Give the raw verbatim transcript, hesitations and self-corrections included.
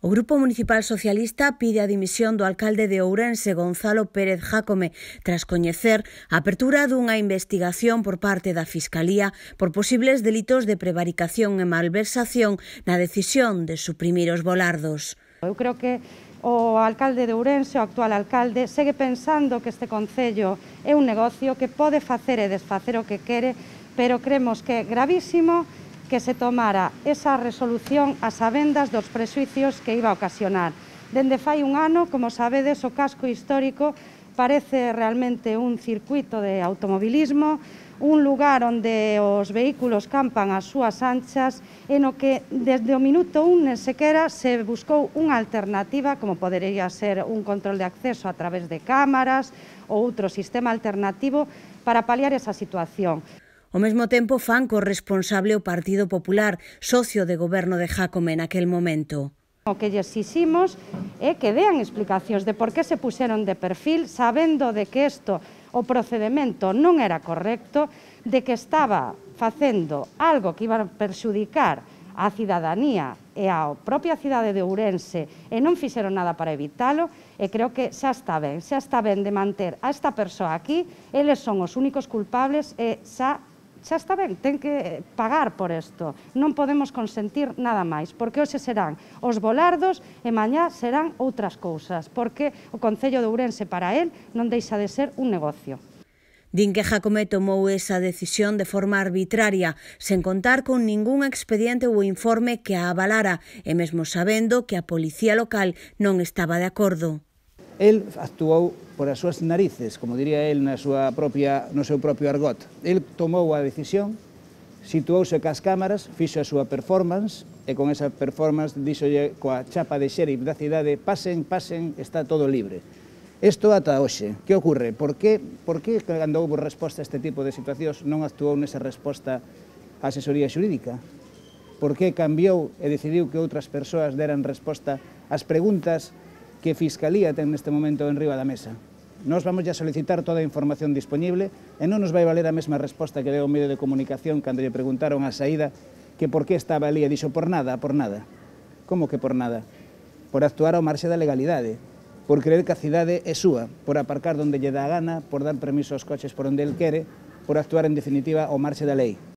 O Grupo Municipal Socialista pide a dimisión do alcalde de Ourense, Gonzalo Pérez Jácome, tras coñecer a apertura dunha investigación por parte da Fiscalía por posibles delitos de prevaricación e malversación na decisión de suprimir os volardos. Eu creo que o alcalde de Ourense, o actual alcalde, segue pensando que este concello é un negocio que pode facer e desfacer o que quere, pero cremos que é gravísimo que se tomara esa resolución a sabendas dos prexuicios que iba a ocasionar. Dende fai un ano, como sabedes, o casco histórico parece realmente un circuito de automobilismo, un lugar onde os vehículos campan ás súas anchas e no que desde o minuto un nen sequera se buscou unha alternativa como podería ser un control de acceso a través de cámaras ou outro sistema alternativo para paliar esa situación. Ao mesmo tempo fan corresponsable o Partido Popular, socio de goberno de Jácome naquel momento. O que lle exiximos é que dean explicacións de por que se puxeron de perfil, sabendo de que isto, o procedimento non era correcto, de que estaba facendo algo que iba a perxudicar á cidadanía e á propia cidade de Ourense e non fixeron nada para evitalo, e creo que xa está ben, xa está ben de manter a esta persoa aquí, eles son os únicos culpables e xa xa está ben, ten que pagar por isto. Non podemos consentir nada máis, porque hoxe serán os volardos e mañá serán outras cousas, porque o Concello de Ourense para el non deixa de ser un negocio. Din que Jácome tomou esa decisión de forma arbitraria, sen contar con ningún expediente ou informe que a avalara, e mesmo sabendo que a policía local non estaba de acordo. El actuou por as súas narices, como diría el na súa propia, no seu propio argot. El tomou a decisión, situouse cas cámaras, fixo a súa performance, e con esa performance díxolle coa chapa de xerif da cidade: pasen, pasen, está todo libre. Isto ata hoxe. Que ocorre? Por que, por que cando houve resposta a este tipo de situacións non actuou nesa resposta a asesoría xurídica? Por que cambiou e decidiu que outras persoas deran resposta ás preguntas que Fiscalía ten neste momento en riba da mesa? Nos vamos a solicitar toda a información disponible e non nos vai valer a mesma resposta que deu o medio de comunicación cando lle preguntaron a saída que por que estaba ali e dixo por nada, por nada. Como que por nada? Por actuar ao marxe da legalidade, por creer que a cidade é súa, por aparcar donde lle dá a gana, por dar permiso aos coches por onde el quere, por actuar en definitiva ao marxe da lei.